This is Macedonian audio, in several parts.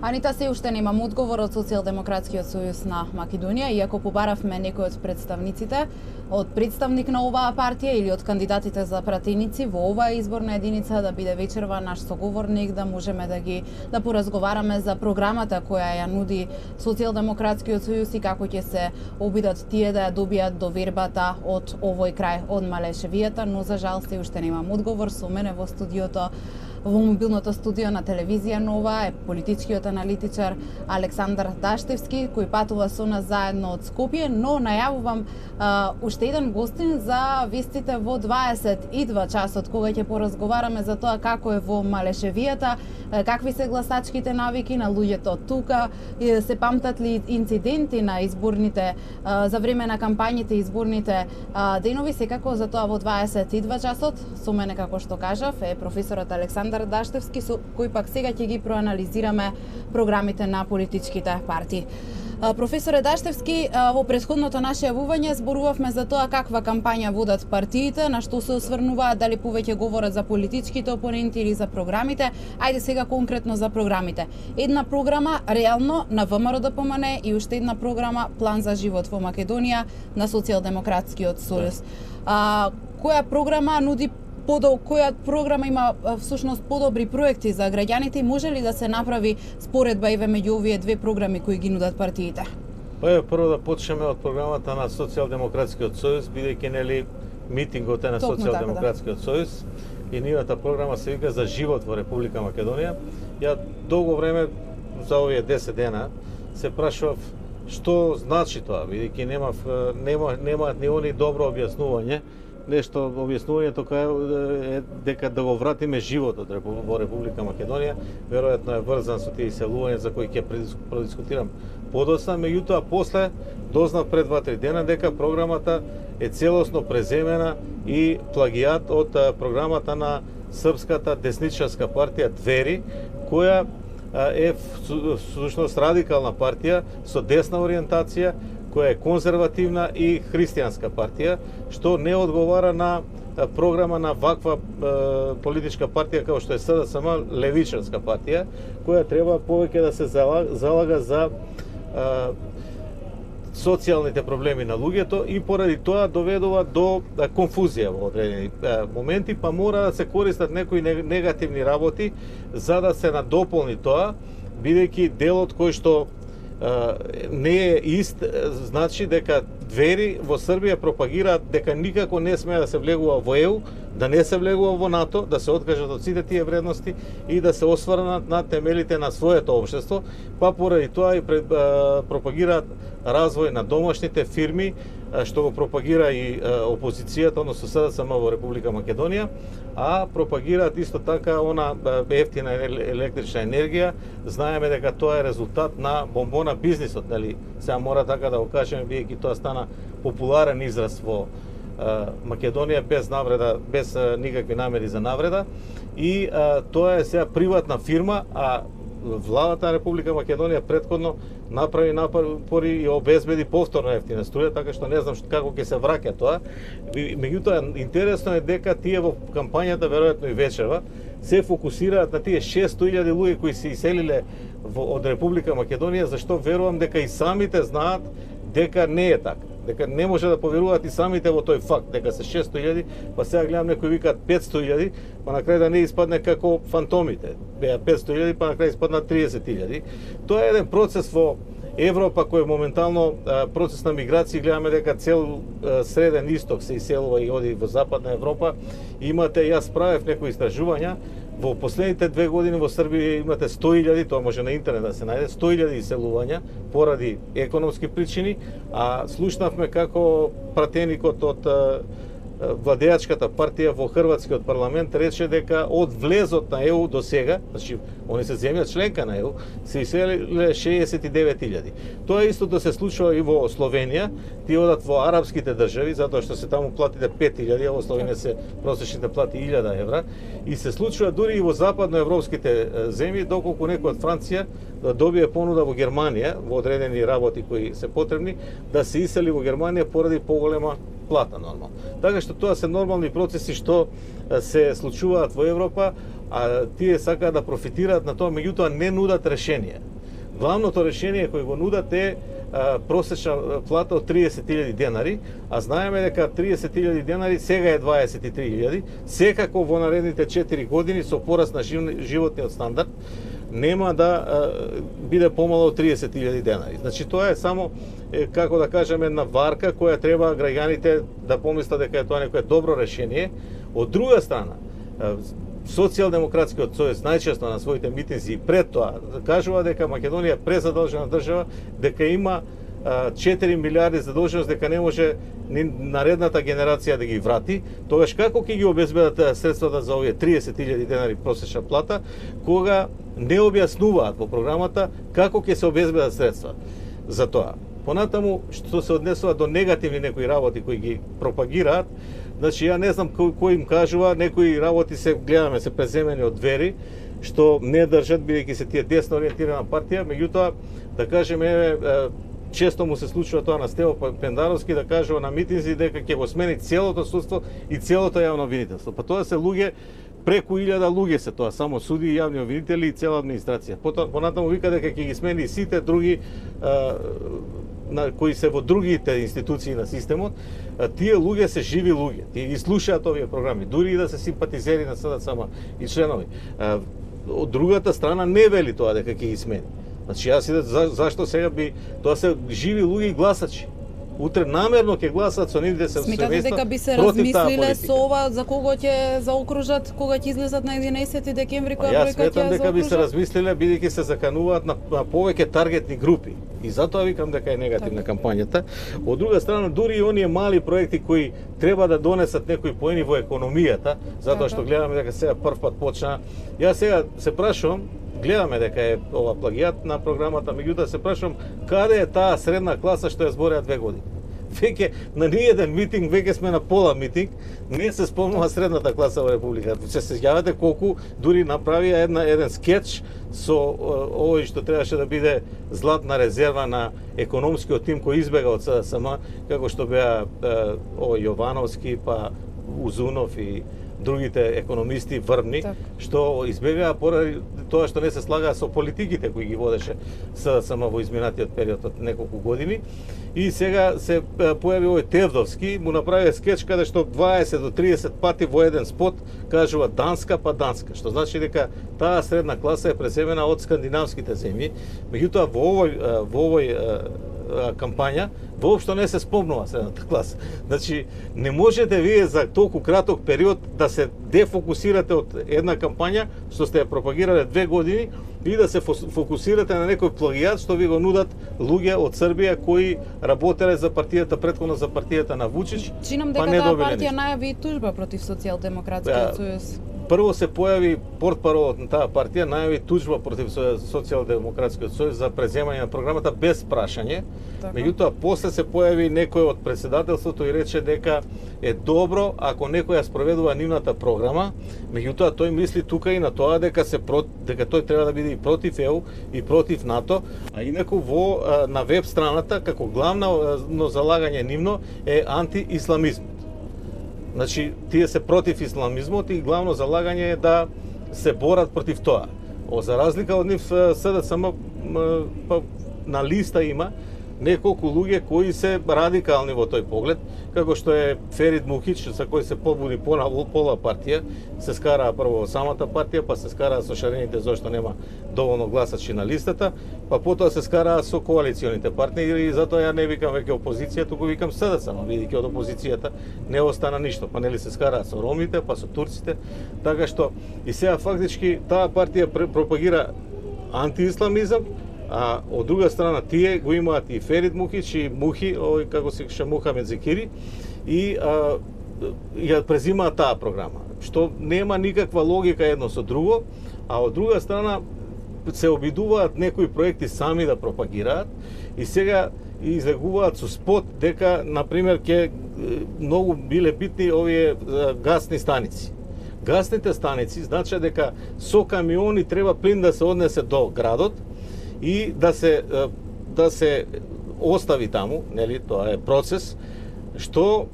Анита се уште немам одговор од Социјалдемократскиот сојуз на Македонија, иако побаравме некој од представниците, од представник на оваа партија или од кандидатите за пратеници во оваа изборна единица да биде вечерва наш соговорник, да можеме да поразговараме за програмата која ја нуди Социјалдемократскиот сојуз и како ќе се обидат тие да ја добијат довербата од овој крај од Малешевијата, но за жал се уште немам одговор. Со мене во студиото, во мобилното студио на телевизија Нова е политичкиот аналитичар Александар Даштевски, кој патува со нас заедно од Скопје, но најавувам уште еден гостин за вестите во 22 часот, кога ќе поразговараме за тоа како е во Малешевијата, какви се гласачките навики на луѓето тука, се памтат ли инциденти на изборните, за време на кампањите изборните денови, секако за тоа во 22 часот. Со мене, како што кажав, е професорот Александар Даштевски, со кој пак сега ќе ги проанализираме програмите на политичките партии. Професоре Даштевски, во претходното наше јавување зборувавме за тоа каква кампања водат партиите, на што се осврнуваат, дали повеќе говорат за политичките опоненти или за програмите. Ајде сега конкретно за програмите. Една програма реално на ВМРО-ДПМН и уште една програма План за живот во Македонија на Социјалдемократскиот сојуз. Која програма нуди која програма има всушност подобри проекти за граѓаните и може ли да се направи споредба еве меѓу овие две програми кои ги нудат партиите? Прво да почнеме од програмата на Социјалдемократскиот сојуз, бидејќи нели митингот е на Социјалдемократскиот сојуз и нивната програма се вика за живот во Република Македонија. Ја долго време за овие 10 дена се прашував што значи тоа, бидејќи немаат ни они добро објаснување. Нешто објаснувањето е дека да го вратиме животот во Република Македонија, веројатно е врзан со тие иселувања за кои ќе продискутирам подоцна, меѓутоа после дознав пред 2-3 дена дека програмата е целосно преземена и плагијат од програмата на српската десничарска партија Двери, која е всушност радикална партија со десна ориентација, која е конзервативна и христијанска партија, што не одговара на програма на ваква политичка партија како што е СДСМ, левичарска партија, која треба повеќе да се залага за социјалните проблеми на луѓето и поради тоа доведува до конфузија во одредени моменти, па мора да се користат некои негативни работи за да се надополни тоа, бидејќи делот кој што не е ист, значи дека Двери во Србија пропагираат дека никако не смее да се влегува во ЕУ, да не се влегува во НАТО, да се откажат од сите тие вредности и да се осврнат на темелите на своето општество, па поради тоа и пропагираат развој на домашните фирми, што го пропагира и опозицијата, односно СДСМ во Република Македонија, а пропагираат исто така она ефтина електрична енергија. Знаеме дека тоа е резултат на бомбона бизнисот, нели? Сега мора така да го кажеме, бидејќи тоа стана популарен израз во Македонија без навреда, без никакви намери за навреда, и тоа е сега приватна фирма, а владата на Република Македонија претходно направи напори и обезбеди повторно ефтина струја, така што не знам како ќе се враќа тоа. Меѓутоа, интересно е дека тие во кампањата, веројатно и вечерва, се фокусираат на тие 600.000 луѓе кои се иселиле од Република Македонија, зашто верувам дека и самите знаат дека не е така. Дека не може да поверуваат и самите во тој факт, дека се 600.000, па сега гледам некои викаат 500.000, па на крај да не испадне како фантомите. Беа 500.000, па на крај испадна 30.000. Тоа е еден процес во Европа кој моментално процес на миграција, гледаме дека цел среден исток се иселува и оди во Западна Европа. Имате, јас правев некои истражувања, во последните 2 години во Србија имате 100.000, тоа може на интернет да се најде, 100.000 иселувања поради економски причини, а слушнавме како пратеникот од владеачката партија во Хрватскиот парламент рече дека од влезот на ЕУ до сега, значи они се земја членка на ЕУ, се иселиле 69.000. Тоа истото се случува и во Словенија, тие одат во арапските држави, затоа што се таму платите 5.000, а во Словенија се просечните плати 1.000 евра, и се случува дури и во западноевропските земји, доколку некој од Франција да добие понуда во Германија, во одредени работи кои се потребни, да се исели во Германија поради поголема плата нормално. Така што тоа се нормални процеси што се случуваат во Европа, а тие сакаат да профитираат на тоа, меѓутоа не нудат решение. Главното решение кој го нудат е просечна плата од 30.000 денари, а знаеме дека 30.000 денари сега е 23.000, секако во наредните 4 години со пораст на животниот стандард нема да биде помало од 30.000 денари. Значи тоа е само како да кажеме една варка која треба граѓаните да помислат дека е тоа некое добро решение. Од друга страна, Социјалдемократскиот сојуз најчесто на своите митинзи пред тоа кажува дека Македонија е презадолжена држава, дека има 4 милиарди задолженост, дека не може ни наредната генерација да ги врати. Тогаш како ќе ги обезбедат средствата за овие 30.000 денари просечна плата, кога не објаснуваат во програмата како ќе се обезбедат средства за тоа. Понатаму, што се однесува до негативни некои работи кои ги пропагираат, значи ја не знам кој им кажува, некои работи се гледаме се преземени од Двери, што не држат бидејќи се тие десно ориентирана партија, меѓутоа да кажеме често му се случува тоа на Стево Пендаровски да кажува на митинзи дека ќе го смени целото судство и целото јавно обвинителство. Па тоа се луѓе, преку 1000 луѓе се тоа, само суди и јавни обвинители и цела администрација. Понатаму вика дека ќе ги смени сите други кои се во другите институции на системот. Тие луѓе се живи луѓе. Тие ги слушаат овие програми, дури и да се симпатизери на СДСМ и членови. Од другата страна не вели тоа дека ќе ги смени. Значи јас зашто сега би тоа се живи луѓе и гласачи. Утре намерно ќе гласат со нивните семејства. Смятате дека би се размислиле со ова за кого ќе заокружат кога ќе излезат на 11 декември која бројка ќе заокружат? Јас сметам дека би се размислиле бидејќи се закануваат на повеќе таргетни групи. И затоа викам дека е негативна кампањата. Од друга страна, дури и оние мали проекти кои треба да донесат некои поени во економијата, затоа што гледаме дека сега прв пат почна. Јас сега се прашувам, гледаме дека е ова плагијат на програмата, меѓутоа се прашувам каде е таа средна класа што ја збореа 2 години. Веќе на ниеден митинг, веќе сме на пола митинг, не се спомнува средната класа во Републиката. Се сеќавате колку дури направија еден скетч со овој што требаше да биде златна резерва на економскиот тим кој избега од СДСМ, како што беа овој Јовановски, па Узунов и другите економисти врвни, што избегаа поради тоа што не се слагаа со политиките кои ги водеше СДСМ во изминатиот период од неколку години. И сега се појави овој Тевдовски, му направи скеч каде што 20 до 30 пати во еден спот кажува Данска па Данска, што значи дека таа средна класа е преземена од скандинавските земји. Меѓутоа во овој кампања воопшто не се спомнува средната класа. Значи, не можете вие за толку краток период да се дефокусирате од една кампања што сте ја пропагирале 2 години и да се фокусирате на некој плагијат што ви го нудат луѓе од Србија кои работеле за партијата претходно за партијата на Вучич. Чинам дека таа партија најави тужба против Социјалдемократскиот сојуз. Прво се појави портпаролот на таа партија, најави тужба против Социјалдемократскиот сојуз за преземање на програмата без прашање. Меѓутоа после се појави некој од председателството и рече дека е добро ако некој ја спроведува нивната програма, меѓутоа тој мисли тука и на тоа дека тој треба да биде и против ЕУ и против НАТО, а инаку на веб страната како главно залагање нивно е антиисламизмот. Значи, тие се против исламизмот и главно залагање е да се борат против тоа. За разлика од нив СДСМ на листа има неколку луѓе кои се радикални во тој поглед, како што е Ферид Мухич, за кој се побуди пола партија, се скараа прво во самата партија, па се скараа со шарените зашто нема доволно гласачи на листата, па потоа се скараа со коалиционите партнери и затоа ја не викам веќе опозиција, туку викам СДСМ, бидејќи од опозицијата не остана ништо, па нели се скараа со ромите, па со турците, така што и сега фактички таа партија пропагира антиисламизам, а од друга страна тие го имаат и Ферид Мухич и Мухи, овој како се каже Мухамед Зекири, и ја презимаат таа програма, што нема никаква логика едно со друго, а од друга страна се обидуваат некои проекти сами да пропагираат и сега излегуваат со спот дека, например, ќе многу биле битни овие гасни станици. Гасните станици значи дека со камиони треба плин да се однесе до градот и да се остави таму, нели, тоа е процес што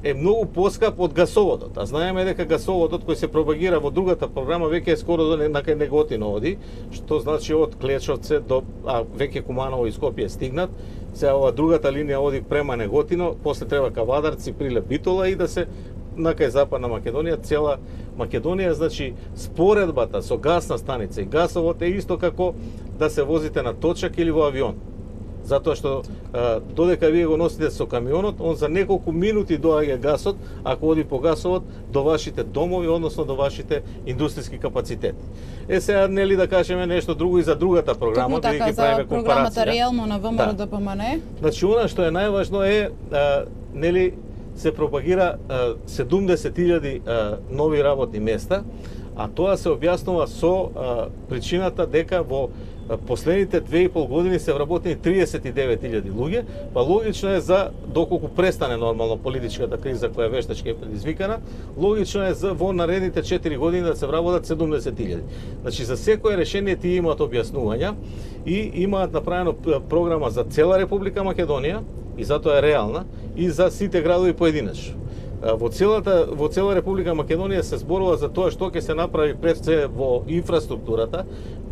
е многу поскап од гасоводот. А знаеме дека гасоводот кој се пропагира во другата програма веќе е скоро до некај Неготино оди, што значи од Клечовце до веќе Куманово и Скопје стигнат. Сега ова другата линија оди према Неготино, после треба Кавадарци, Прилеп, Битола и да се накај Западна Македонија, цела Македонија, значи споредбата со гасна станица и гасовод е исто како да се возите на точак или во авион. Затоа што додека вие го носите со камионот, он за неколку минути доаѓа гасот, ако оди по гасовод, до вашите домови, односно до вашите индустријски капацитети. Сега нели да кажеме нешто друго и за другата програма, да ќе правиме програмата реално на ВМРО ДПМН. Значи она што е најважно е нели се пропагира 70.000 нови работни места, а тоа се објаснува со причината дека во последните 2,5 години се вработени 39.000 луѓе, па логично е за доколку престане нормално политичката криза која вештачки е предизвикана, логично е за во наредните 4 години да се вработат 70.000. Значи за секое решение тие имаат објаснувања и имаат направено програма за цела Република Македонија и затоа е реална и за сите градови поединечно. Во цела Република Македонија се зборува за тоа што ќе се направи пред се во инфраструктурата,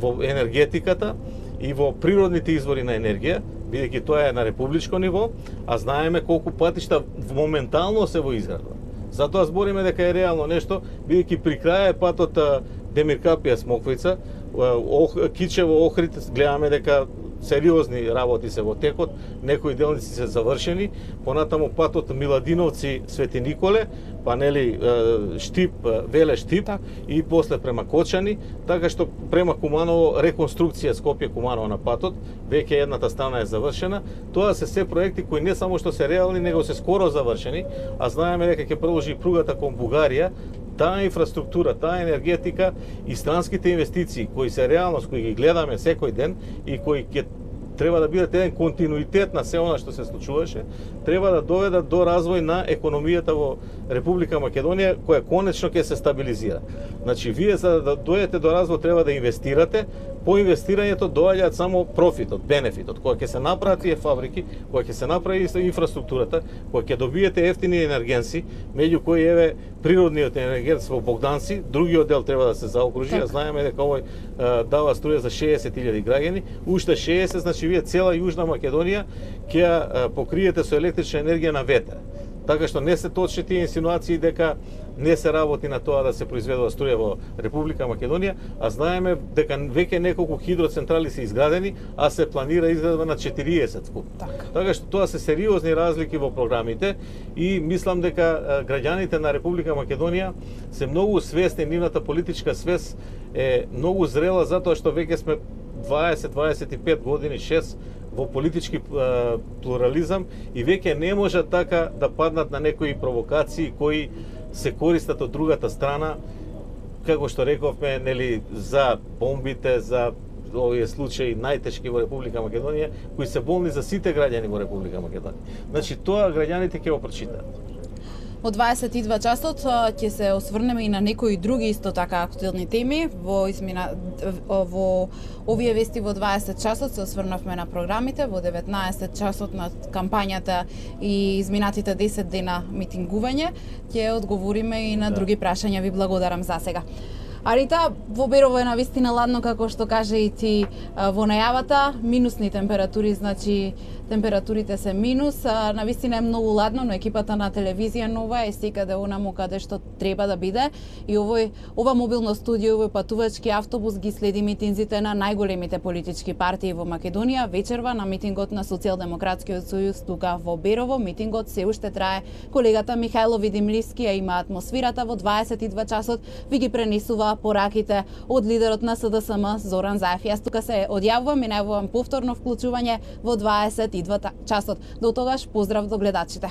во енергетиката и во природните извори на енергија, бидејќи тоа е на републичко ниво, а знаеме колку патишта моментално се во изградба. Затоа збориме дека е реално нешто, бидејќи при крај е патот Демир Капија Смоквица, Кичево Охрид, гледаме дека сериозни работи се во текот, некои делници се завршени, понатаму патот Миладиновци Свети Николе, па нели Штип, Веле Штип и после према Кочани, така што према Куманово реконструкција Скопје Куманово на патот, веќе едната страна е завршена. Тоа се проекти кои не само што се реални, него се скоро завршени, а знаеме дека ќе продолжи пругата кон Бугарија. Таа инфраструктура, таа енергетика и странските инвестиции кои се реалност, кои ги гледаме секој ден и кои ќе треба да бидат еден континуитет на се она што се случуваше, треба да доведат до развој на економијата во Република Македонија, која конечно ќе се стабилизира. Значи, вие за да дојдете до развој треба да инвестирате, по инвестирањето доаѓаат само профитот, бенефитот, кога ќе се направат тие фабрики, кога ќе се направи инфраструктурата, кога ќе добиете ефтини енергенси, меѓу кои еве природниот енергенс во Богданци, другиот дел треба да се заокружи, а знаеме дека овој дава струја за 60.000 граѓани, уште 60, значи вие цела Јужна Македонија ќе покриете со електрична енергија на ветер. Така што не се точни тие инсинуации дека не се работи на тоа да се произведува струја во Република Македонија, а знаеме дека веќе неколку хидроцентрали се изградени, а се планира изградба на 40 скуп. Така што тоа се сериозни разлики во програмите и мислам дека граѓаните на Република Македонија се многу свесни, нивната политичка свест е многу зрела затоа што веќе сме 20-25 години, 6 во политички плурализам и веќе не може така да паднат на некои провокации кои се користат од другата страна, како што рековме, нели, за бомбите, за овие случаи најтешки во Република Македонија, кои се болни за сите граѓани во Република Македонија. Значи, тоа граѓаните ќе го прочитаат. Во 22 часот ќе се осврнеме и на некои други исто така актуелни теми. Во овие вести во 20 часот се осврнавме на програмите, во 19 часот на кампањата и изминатите 10 дена митингување. Ќе одговориме и на други прашања. Ви благодарам за сега. Арита, во Берово е навистина ладно, како што кажа и ти во најавата, минусни температури, значи температурите се минус, навистина е многу ладно, но екипата на телевизија Нова е секаде онаму каде што треба да биде и ова мобилно студио, овој патувачки автобус ги следи митинзите на најголемите политички партии во Македонија. Вечерва на митингот на Социјалдемократскиот сојуз тука во Берово, митингот се уште трае. Колегата Михајло Видимливски ја има атмосферата во 22 часот, ви ги пренесува пораките од лидерот на СДСМ Зоран Заев. Јас тука се одјавувам и најавувам повторно вклучување во 22 часот. До тогаш поздрав до гледачите.